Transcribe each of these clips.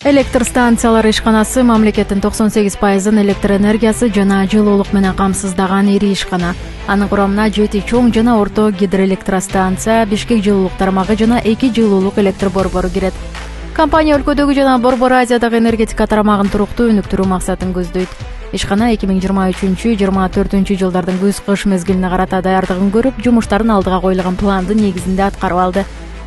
Электр станциялары ишканасы мамлекеттин 98% электр энергиясы жана жылуулук менен камсыздаган ири ишкана. Анын курамына 7 чоң жана орто гидроэлектростанция, Бишкек жылуулук тармагы жана 2 жылуулук электр борбору кирет. Компания өлкөдөгү жана Борбор Азиядагы энергетика тарамагын туруктуу өнүктүрүү максатын көздөйт. Ишкана 2023-24 жылдардын күз-кыш мезгилине карата даярдыгын көрүп, жумуштарын алдыга коюлган пландын негизинде аткарып алды.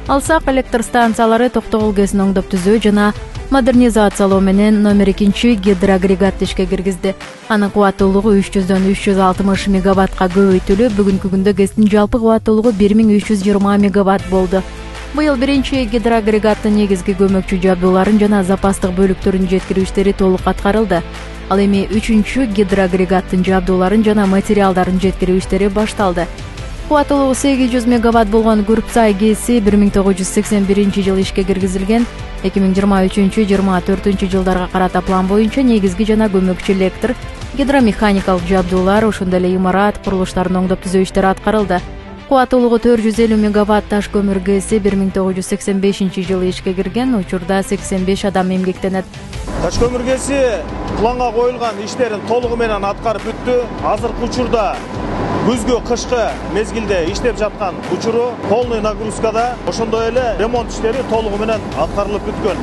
Алсак, электр станциялары токтогул КЭСин оңдоп түзөө жана модернизациялоо менен номер 2 гидроагрегатты ишке киргизди. Анын кубаттуулугу 300дөн 360 мегаваттка көбөйтүлүп, бүгүнкү күндө КЭСтин жалпы кубаттуулугу 1320 мегаватт болду. Быйыл биринчи гидроагрегаттын негизги көмөкчү жабдууларын жана запастык бөлүктөрүн жеткирүү иштери толук аткарылды. Ал эми 3-чү гидроагрегаттын жабдууларын жана материалдарын жеткирүү иштери башталды. Кубаттуулугу 800 мегаватт болгон Күрпсай КЭСи 1981 жылы ишке киргизилген. 2023-24 жылдарга карата план боюнча негизги жана көмөкчү электр, гидромеханикалык жабдуулар, ошондой эле имарат курулуштарын оңдоп түзөө иштери аткарылды. Кубаттуулугу 450 мегаватт Таш көмүр КЭСи 1985 жылы ишке кирген, учурда 85 адам эмгектенет. Таш көмүр КЭСи планга коюлган иштерин толугу менен аткарып бүттү. Азыркы учурда күзгү кышкы мезгилде иштеп жаткан учуру полный нагрузкада, ошондой эле ремонт иштери толугу менен аткарылып бүткөн.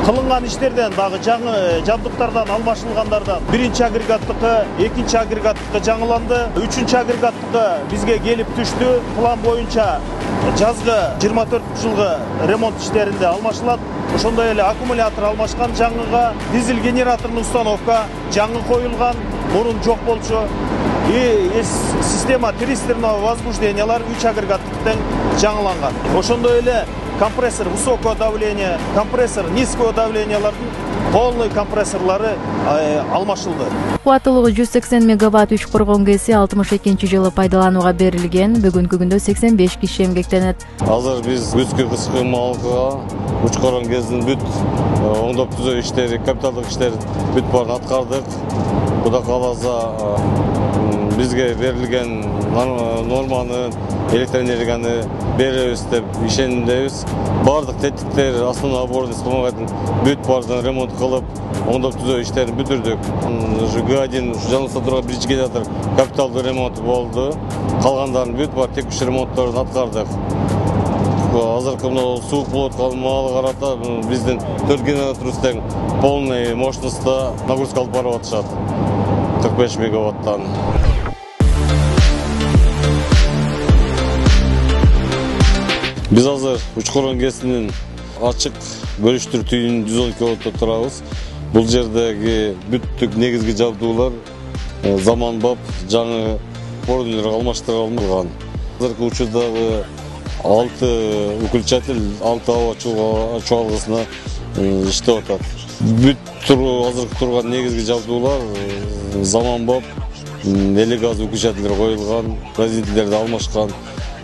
Кылынган иштерден дагы жаңы жабдыктардан алмашылгандардан биринчи агрегаттыкы, экинчи агрегаттыкы жаңыланды, үчүнчү агрегаттыкы бизге келип түштү. План боюнча жазгы 24 жылгы ремонт иштеринде алмашылат. Ошондой эле аккумулятор алмашкан жаңыга, дизель генераторный установка жаңы коюлган, мурун жок болчу. И система тристерного возбуждениялар 3 агрегаттыктан жаңыланган. Ошондой эле компрессор высокого давления, компрессор низкого давлениялардын полный компрессорлары алмашылды. Кубаттуулугу 180 мегаватт Үч Коргон КЭСи 62 жылы пайдаланууга берилген. Бүгүнкү күндө 85 киши эмгектенет. Азыр биз күзгү кышкы малга Үч Коргон КЭСин бүт оңдоп түзөө иштери, капиталдык иштер бүт баарын аткардык. Кудай кааласа бизге берилген норманы, электр энергияны беребиз деп ишендебиз. Бардык тетиктер, основной опорный вспомогательный бүт баарын ремонт кылып, оңдоп түзөө иштерин бүтүрдүк. ЖГ-1 жаңылса турган биринчи генератор капиталдык ремонт болду. Калгандарын бүт бар текущий ремонтторун аткардык. Азыркы мына суук болуп аткан маалга карата биздин 4 генераторубуз тең полный мощностьта нагрузка алып барып атышат. 45 мегаваттан. Биз азыр Үч Коргон КЭСинин ачык бөлүштүр түйүнүн 112 киловаттта турабыз. Бул жердеги бүттүк негизги жабдуулар заманбап жаңы пордүлөр алмаштырылган. Азыркы учурдагы 6 выключатель 6 аба чуалгысына иштеп атат. Бүт азыркы турган негизги жабдуулар заманбап эле газ выключательдер коюлган, разделителерди алмашкан,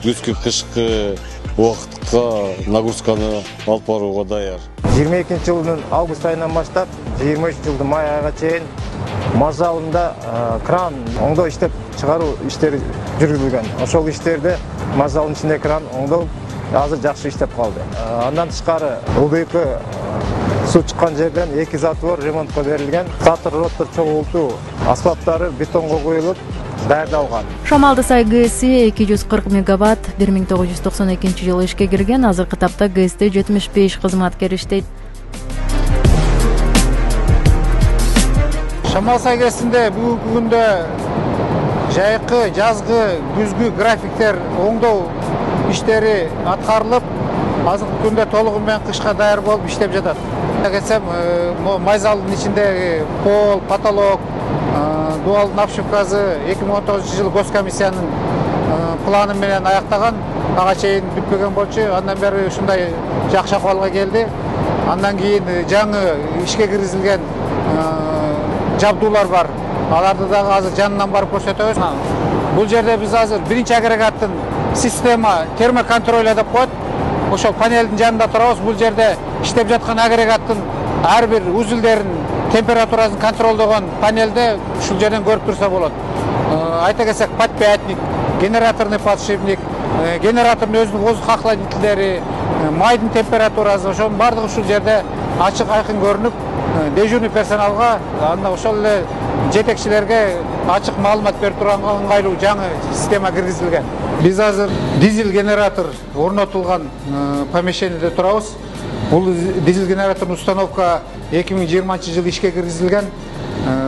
күзгү кышкы убакытка нагрузканы алып барууга даяр. 22 жылдын август айынан баштап 23 жылдын май айга чейин маз залында кран оңдоо иштеп чыгаруу иштери жүргүзүлгөн. Ошол иштерде маз залынын ичинде кран оңдолуп, азыр жакшы иштеп калды. Андан тышкары ылдыйкы суу чыккан жерден 2 затвор ремонтко берилген. Затвор роттор чогултуу аспаптары бетонго коюлуп даярдалган. Шамалдысай КЭСи 240 мегаватт 1992 жылы ишке кирген. Азыркы тапта КЭСте 75 кызматкер иштейт. Шамалдысай КЭСинде бүгүнкү күндө жайкы, жазгы, күзгү графиктер оңдоо иштери аткарылып, азыркы күндө толугу менен кышка даяр болуп иштеп жатат. Кетсем, май залынын ичиндеги пол, потолок, дуалдын обшивкасы 2019 жылы госкомиссиянын планы менен аяктаган, ага чейин бүтпөгөн болчу. Андан бери ушундай жакшы акыбалга келди. Андан кийин жаңы ишке киргизилген жабдуулар бар. Аларды дагы азыр жанынан барып көрсөтөбүз. Бул жерде биз азыр биринчи агрегаттын система термоконтроль деп коет. Ошол панелдин жанында турабыз. Бул жерде иштеп жаткан агрегаттын ар бир узулдерин температурасын контролдогон панелде ушул жерден көрүп турса болот. Айта кетсек, подпятник, генераторный подшипник, генератордун өзүнүн воздух охладителдери, майдын температурасы, ошонун баардыгы ушул жерде ачык айкын көрүнүп, дежурный персоналга, анда ошол эле жетекчилерге ачык маалымат берип турганга ыңгайлуу жаңы система киргизилген. Биз азыр дизель генератор орнотулган помещениеде турабыз. Бул дизель генератордун установка 2020 жылы ишке киргизилген.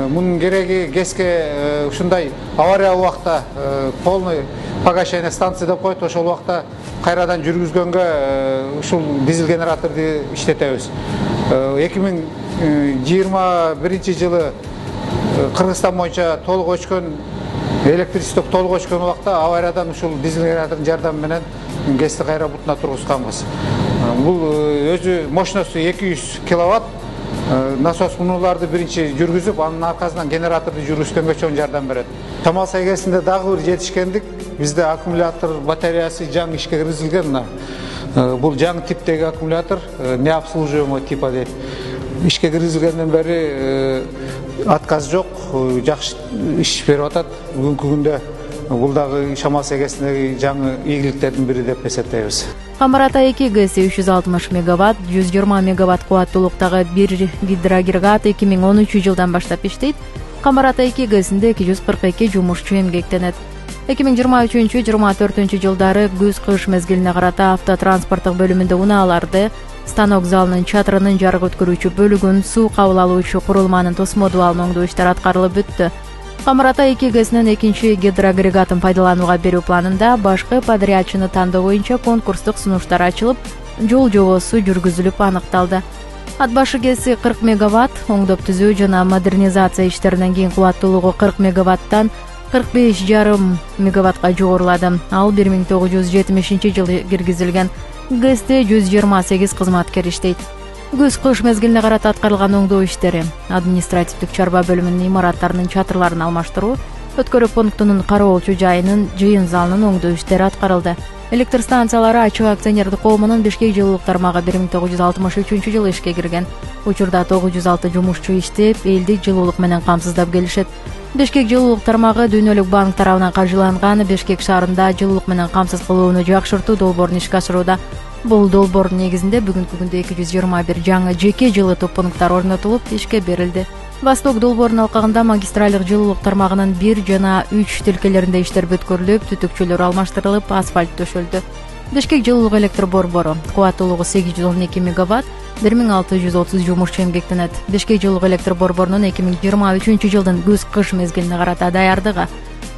Мунун кереги ГЭСке ушундай авария убакта полный погашение станция деп коет, ошол убакта кайрадан жүргүзгөнгө ушул дизель генераторду иштетебиз. 2021 жылы Кыргызстан боюнча толук өчкөн, электричество толук өчкөн убакта авариядан ушул дизель генератордун жардамы менен ГЭСти кайра бутуна тургузганбыз. Бул өзү мощносту 200 киловатт. Насос мунуларды биринчи жүргүзүп, анын аркасынан генераторду жүргүзгөнгө чоң жардам берет. Шамал Сайгесинде дагы бир жетишкендик, бизде аккумулятор батареясы жаңы ишке киргизилген. Бул жаңы типтеги аккумулятор, необслуживаемый типа дейт. Ишке киргизилгенден бери отказ жок, жакшы иш берип атат. Бүгүнкү күндө бул дагы Шамал Сайгесиндеги жаңы ийгиликтердин бири деп эсептейбиз. Камар Ата 2 ГЭСи 360 мегаватт, 120 мегаватт кубаттуулуктагы бир гидроагрегат 2013 жылдан баштап иштейт. Камар Ата 2 ГЭСинде 242 жумушчу эмгектенет. 2023-24 жылдары күз-кыш мезгилине карата автотранспорттук бөлүмүндө унааларды, станок залынын чатырынын жарык өткөрүүчү бөлүгүн, суу кабыл алуучу курулманын тосмодуу алынуу иштери аткарылып бүттү. Камар Ата 2 ГЭСинин экинчи гидроагрегатын пайдаланууга берүү планында башкы подрядчыны тандоо боюнча конкурстук сунуштар ачылып, жол жобосу жүргүзүлүп аныкталды. Ат башы ГЭСи 40 мегаватт, оңдоп түзүү жана модернизация иштеринен кийин кубаттуулугу 40 мегаваттан 45,5 мегаваттка жогорулады. Ал 1970 жылы киргизилген. ГЭСте 128 кызматкер иштейт. Күз-кыш мезгилине карата аткарылган оңдоо иштери, административдик чарба бөлүмүнүн имараттарынын чатырларын алмаштыруу, өткөрүү пунктунун кароолчу жайынын, жыйын залынын оңдоо иштери аткарылды. Электр станциялары ачык акционердик коомунун Бишкек жылуулук тармагы 1963 жылы ишке кирген. Учурда 906 жумушчу иштеп, элдик жылуулук менен камсыздап келишет. Бишкек жылуулук тармагы Дүйнөлүк банк тарабынан каржыланган Бишкек шаарында жылуулук менен камсыз кылууну жакшыртуу долбоорун ишке ашырууда. Бул долбоордун негизинде бүгүнкү күндө 221 жаңы жеке жылытуу пункттар орнотулуп, ишке берилди. Восток долбоорунун алкагында магистралдык жылуулук тармагынын 1 жана 3 тилкелеринде иштер бүткөрүлүп, түтүкчөлөр алмаштырылып, асфальт төшөлдү. Бишкек жылуулук электр борбору кубаттуулугу 812 мегаватт, 1630 жумушчу эмгектенет. Бишкек жылуулук электр борборунун 2023 жылдын күз-кыш мезгилине карата даярдыгы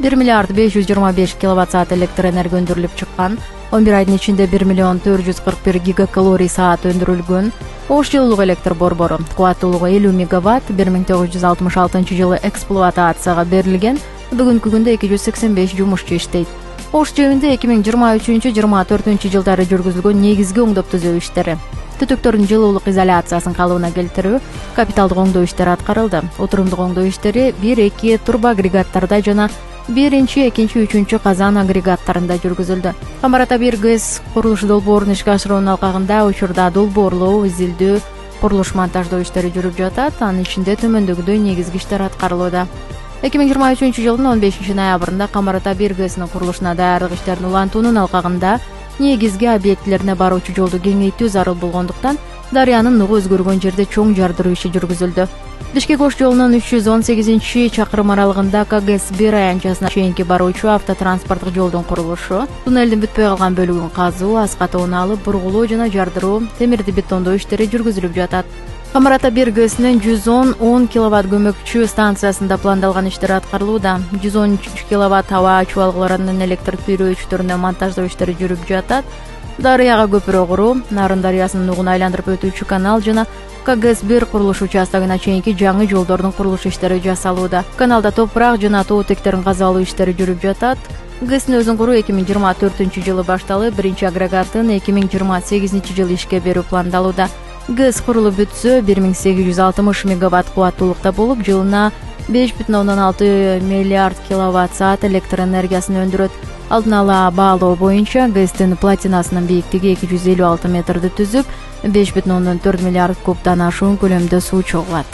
1 миллиард 525 киловатт саат электр энергия өндүрүлүп чыккан. 11 айдын ичинде 1 миллион 441 гигакалорий саат өндүрүлгөн. Ош жылуулук электр борбору кубаттуулугу 50 мегаватт, 1966 жылы эксплуатацияга берилген. Бүгүнкү күндө 285 жумушчу иштейт. Ош жебинде 2023-24 жылдары жүргүзүлгөн негизги оңдоп түзөө иштери, түтүктөрдүн жылуулук изоляциясын калыбына келтирүү, капиталдык оңдоо иштери аткарылды. Отурумдук оңдоо иштери 1-2 турбо агрегаттарда жана 1-2-3 казан агрегаттарында жүргүзүлдү. Камар Ата 1 ГЭС курулуш долбоорун ишке ашыруунун алкагында учурда долбоорлоо, изилдөө, курулуш монтаждоо иштери жүрүп жатат. Анын ичинде төмөндөгүдөй негизги иштер аткарылууда. 2023 жылдын 15 ноябрында Камар Ата 1 ГЭСинин курулушуна даярдык иштерин улантуунун алкагында негизги объектилерине баруучу жолду кеңейтүү зарыл болгондуктан дарыянын нугу өзгөргөн жерде чоң жардыруу иши жүргүзүлдү. Бишкек-Ош жолунун 318-чакырым аралыгында КГС-1 аянтчасына чейинки баруучу автотранспорттук жолдун курулушу, туннелдин бүтпөй калган бөлүгүн казуу, аската унаалып, бургулоо жана жардыруу, темирди бетондоо иштери жүргүзүлүп жатат. Камар Ата 1 ГЭСинин 110 киловатт көмөкчү станциясында пландалган иштер аткарылууда. 113 киловатт аба чубалгыларынын электр түйрөөчтөрүнө монтаждоо иштери жүрүп жатат. Дарыяга көпүрө куруу, Нарын дарыясынын нугун айландырып өтүүчү канал жана КГС-1 курулуш участогуна чейинки жаңы жолдордун курулуш иштери жасалууда. Каналда топурак жана тоо тектерин казалуу иштери жүрүп жатат. ГЭСин өзүн куруу 2024 жылы башталып, биринчи агрегатын 2028 жылы ишке берүү пландалууда. ГЭС курулуп бүтсө 1860 мегаватт кубаттуулукта болуп, жылына 5,6 миллиард киловатт саат электр энергиясын өндүрөт. Алдын ала баалоо боюнча ГЭСтин платинасынын бийиктиги 256 метрди түзүп, 5,4 миллиард кубдан ашуун көлөмдө суу чогулат.